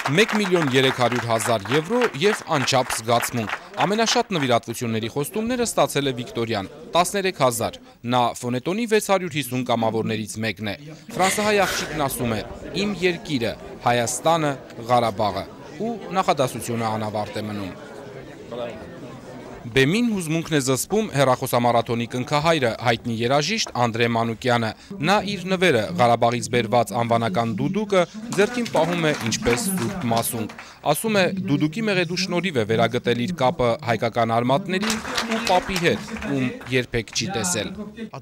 1,300,000 եվրո և անչափ զգացմունք։ Ամենաշատ նվիրատվությունների խոստումները ստացել է Վիկտորյան, 13,000, նա Ֆոնետոնի 650 կամավորներից մեկն է։ Ֆրանսահայ աղջիկն ասում է, իմ երկիրը, Հայաստանը, Ղարաբաղը, ու նախադասությունը անավարտ է մնում։ Բեմին հուզմունքն է զսպում հեռախոսամարաթոնի կնքահայրը, հայտնի երաժիշտ Անդրե Մանուկյանը։ Նա իր նվերը Ղարաբաղից բերված անվանական դուդուկը ձեռքին պահում է ինչպես սուրբ մասունք։ Ասում է, դուդուկի մեղեդու շնորհիվ է վերագտել իր կապը հայկական արմատներին ու պապի հետ, ում երբեք չի տեսել։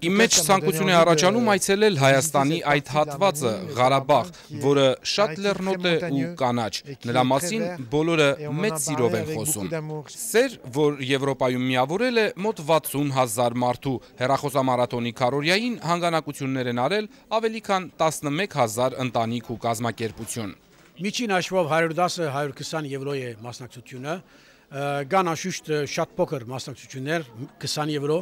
Իմ մեջ ցանկություն է առաջանում այցելել Հայաստանի այդ հատվածը, Ղարաբաղ, որը շատ լեռնոտ է ու կանաչ։ Նրա մասին բոլորը մեծ սիրով են խոսում։ Սեր, որ Եվրոպայում միավորել է մոտ 60,000 մարդու, հեռախոսամարաթոնի քառօրյային հանգանակություններ են արել ավելի քան 11,000 ընտանիք ու կազմակերպություն։ Միջին հաշվով 110-120 եվրո է մասնակցությունը, կան անշուշտ շատ փոքր մասնակցություններ, 20 եվրո,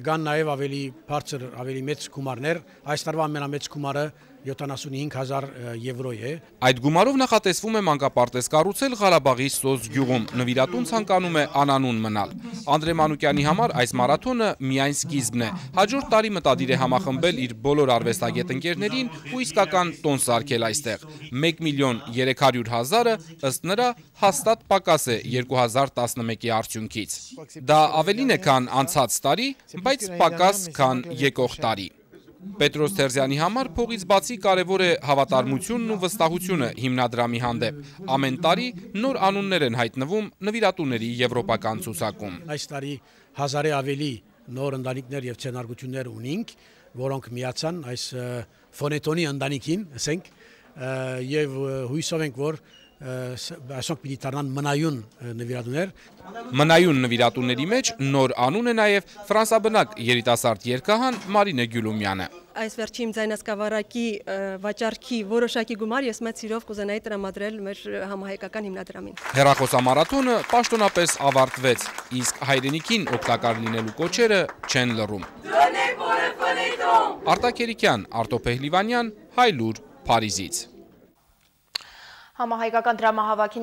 կան նաև ավելի բարձր, ավելի մեծ գումարներ, այս տարվա ամենամեծ գումարը 75,000 եվրո է։ Այդ գումարով նախատեսվում է մանկապարտեզ կառուցել Ղարաբաղի Սոզ գյուղում, նվիրատուն ցանկանում է անանուն մնալ։ Անդրե Մանուկյանի համար այս մարաթոնը միայն սկիզբն է։ Հաջորդ տարի մտադիր է համախմբել իր բոլոր արվեստագետ ընկերներին ու իսկական տոն սարքել այստեղ։ 1,300,000-ը ըստ նրա հաստատ պակաս է 2011-ի արդյունքից։ Դա ավելին է, քան անցած տարի, բայց պակաս, քան եկող տարի։ Պետրոս Թերզյանի համար փողից բացի կարևոր է հավատարմությունն ու վստահությունը հիմնադրամի հանդեպ։ Ամեն տարի նոր անուններ են հայտնվում նվիրատուների եվրոպական ցուցակում։ Այս տարի 1000-ը ավելի նոր ընտանիքներ եւ ցենարգություններ ունենք, որոնք միացան այս Ֆոնետոնի ընտանիքին, ասենք, եւ հույսով ենք, որ այսօր պիտի դառնան մնայուն նվիրատուներ։ Մնայուն նվիրատուների մեջ նոր անուն է նաև ֆրանսաբնակ երիտասարդ երգահան Մարինե Գյուլումյանը։ Այս վերջին ձայնասկավառակի վաճառքի որոշակի գումար ես մեծ սիրով կուզենայի տրամադրել մեր համահայկական հիմնադրամին։ Հեռախոսամարաթոնը պաշտոնապես ավարտվեց, իսկ հայրենիքին օգտակար լինելու կոչերը չեն լռում։ Արտակ Երիկյան, Արտո Փեհլիվանյան, Հայլուր, Փարիզից։ Համահայկական դրամահավաքի